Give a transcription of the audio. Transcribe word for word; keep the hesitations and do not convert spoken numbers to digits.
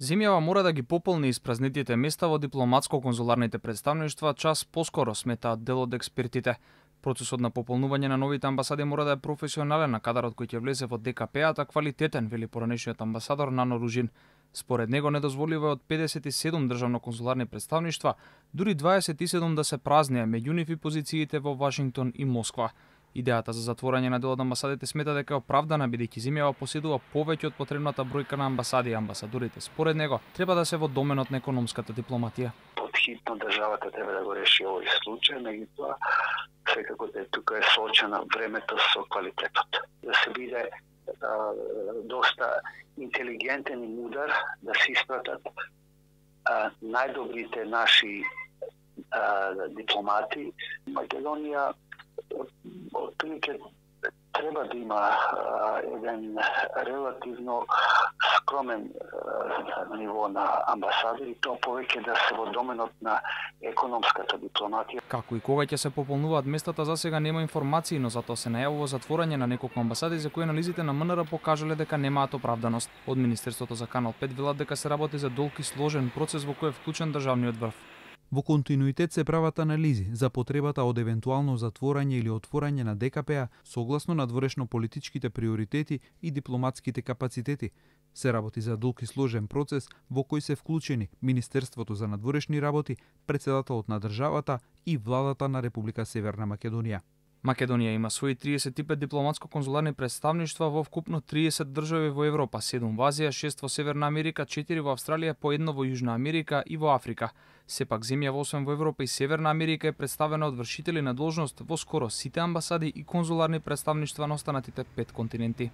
Земјава мора да ги пополни испразнетите места во дипломатско-конзуларните представништва час поскоро, сметаат дел од експертите. Процесот на пополнување на новите амбасади мора да е професионален, а кадарот кој ќе влезе во Д К П-ата квалитетен, вели поранешниот амбасадор Нано Ружин. Според него недозволиво е од педесет и седум државно-конзуларни представништва, дури дваесет и седум да се празнеа, меѓу нив и позициите во Вашингтон и Москва. Идејата за затворање на дел од амбасадите смета дека е оправдана, бидејќи земјава поседува повеќе од потребната бројка на амбасади, а амбасадорите според него треба да се во доменот на економската дипломатија. Подхитно државата треба да го реши овој случај, меѓутоа секако да тука е соочено времето со квалитетот. Да се биде а, доста интелигентен и мудар, да се испратат а, најдобрите наши а, дипломати. Македонија отприлike треба да има а, еден релативно скромен а, ниво на амбасадори, тоа повеќе да се во доменот на економската дипломатија. Како и кога ќе се пополнуваат местата, за сега нема информации, но затоа се најавува затворање на неколку амбасади за кои анализите на М Н Р покажале дека немаат оправданост. Од Министерството за Канал пет велат дека се работи за долг и сложен процес во кој е вклучен државниот врв. Во континуитет се прават анализи за потребата од евентуално затворање или отворање на Д К П-а согласно надворешно политичките приоритети и дипломатските капацитети. Се работи за долг и сложен процес во кој се вклучени Министерството за надворешни работи, председателот на државата и владата на Република Северна Македонија. Македонија има свои триесет и пет дипломатско-конзуларни представништва во вкупно триесет држави во Европа, седум во Азија, шест во Северна Америка, четири во Австралија, по едно во Јужна Америка и во Африка. Сепак земјава освен во Европа и Северна Америка е представена од вршители на должност во скоро сите амбасади и конзуларни представништва на останатите пет континенти.